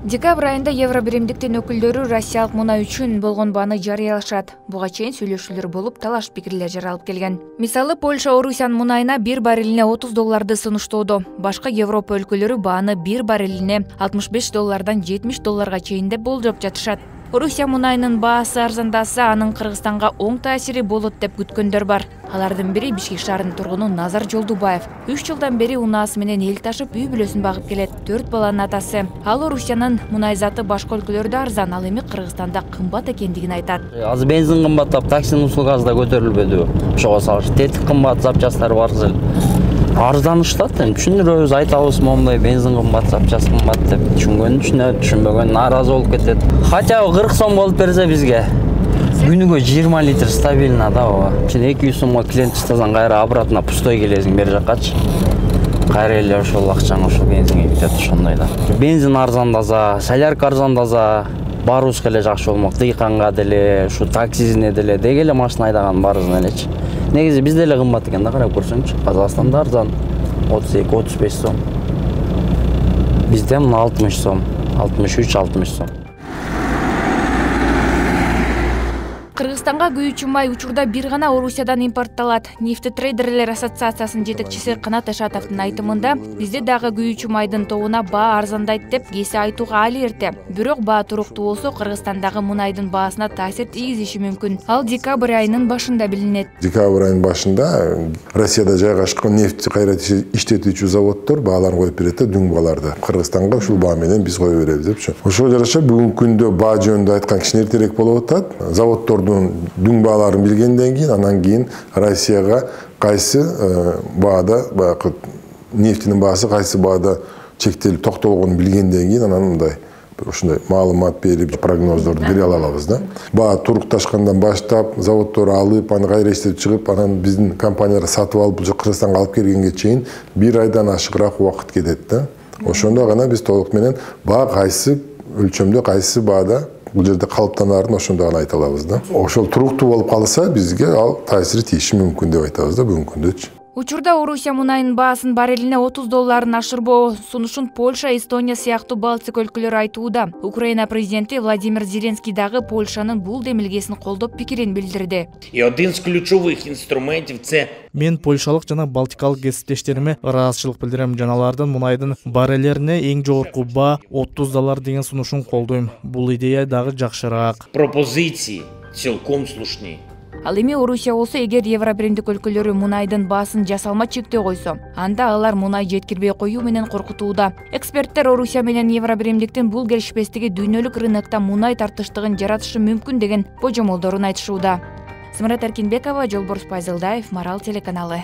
Декабрь айында Евробиримдиктин өкүлдөрү Россиялык мунай үчүн болгон бааны жарыялашат. Буга чейин сүйлөшүүлөр болуп, талаш пикирлер жаралып келген. Мисалы, Польша Орусиянын мунайына бир баррелине $30 сунуштоодо. Башка Европа өлкөлөрү бааны бир баррелине $65 $70 чейин деп болжоп жатышат. Орусия мунайынын баасы арзандаса, анын Кыргызстанга оң таасири болот деп күткөндөр бар. Алардын бири Бишкек шаарынын тургуну Назар Жолдубаев. 3 жылдан бери унаасы менен эл ташып, үй бүлөсүн багып келет. 4 баланын атасы. Ал Орусиянын мунай заты башка өлкөлөрдө арзан, ал эми Кыргызстанда кымбат экендигин айтат. Азыр бензин кымбаттап, таксинин услугасы да көтөрүлбөдү. Ошого салыш тетик кымбат, запчасттар бар эле. Арзаныштат, түшүндүрөбүз, айтабыз, момундай бензин кымбат, запчаст кымбат деп. Түшүнгөн түшүнөт, түшүнбөгөн нааразы болуп кетет. Хотя 40 сом болуп берсе бизге күнүгө 20 литр стабильно да ооба. 200 сомго клиент чыгсаң кайра обратно пустой келесиң бери жаккачы. Кайра эле ошол акчаң ошол бензинге кетет ошондой да. Бензин арзандаса, солярка арзандаса, баарыбызга эле жакшы болмок. Дыйканга деле, ушу таксисине деле, деги эле машина айдаган баарыбызга элечи. Негизи бизде эле кымбат экен да, карап көрсөңчү. Казакстанда арзан 32-35 сом. Бизде 60 сом, 63-60 сом. Кыргызстанга күйүүчү май учурда бир гана Орусиядан импортталат. Нефтетрейдерлер ассоциациясынын жетекчиси Канат Ашатовдун айтымында, бизде дагы күйүүчү майдын тобуна баа арзандайт деп кесе айтууга али эрте. Бирок баа туруктуу болсо, Кыргызстандагы мунайдын баасына таасир тийгизиши мүмкүн. Ал декабрь айынын башында билинет. Декабрь айынын башында Россияда жайгашкан нефть кайра иштетүүчү заводдор бааларын коюп берет да, дүң бааларды. Кыргызстанга ушул баа менен биз кое беребиз депчи. Ошого жараша бүгүнкү күндө баа жөнүндө айткан кичине эртерээк болуп атат. Заводдор дүң бааларын билгенден кийин, анан кийин Россияга кайсы баада, баягы нефтинин баасы кайсы баада чектелип токтолгонун билгенден кийин, анан мындай ушундай маалымат берип, прогноздорду бере алабыз да. Баа турукташкандан баштап, заводдор алып, аны кайра иштеп чыгып, анан биздин компаниялар сатып алып, Кыргызстанга алып келгенге чейин 1 айдан ашыгыраак убакыт кетет да. Ошондо гана биз толук менен баа кайсы өлчөмдө, кайсы баада бул жерде калыптанаарын ошондо гана айта алабыз да. Ошол туруктуу болуп калса, бизге ал таасири тийиши мүмкүн деп айтабыз да бүгүнкү күндөчү. Учурда Орусия мунайынын баасын баррелине $30 ашырбоо сунушун Польша, Эстония сыяктуу Балтик өлкөлөрү айтууда. Украина президенти Владимир Зеленский дагы Польшанын бул демилгесин колдоп пикирин билдирди. И один из ключевых инструментов це мен польшалык жана балтикалык кесиптештериме ыраазычылык билдирем. Жаналардын мунайдын баррелерине эң жогорку баа $30 деген сунушун колдойм. Бул идея дагы жакшыраак. Пропозиции цілком слушні. Ал эми Орусия болсо, эгер Евробиримдик өлкөлөрү мунайдын баасын жасалма чектөө койсо, анда алар мунай жеткирбей коюу менен коркутууда. Эксперттер Орусия менен Евробиримдиктин бул келишпестиги дүйнөлүк рынокто мунай тартыштыгын жаратышы мүмкүн деген божомолдорун айтышууда. Самарат Эркинбекова, Жолборс Пайзылдаев, Марал телеканалы.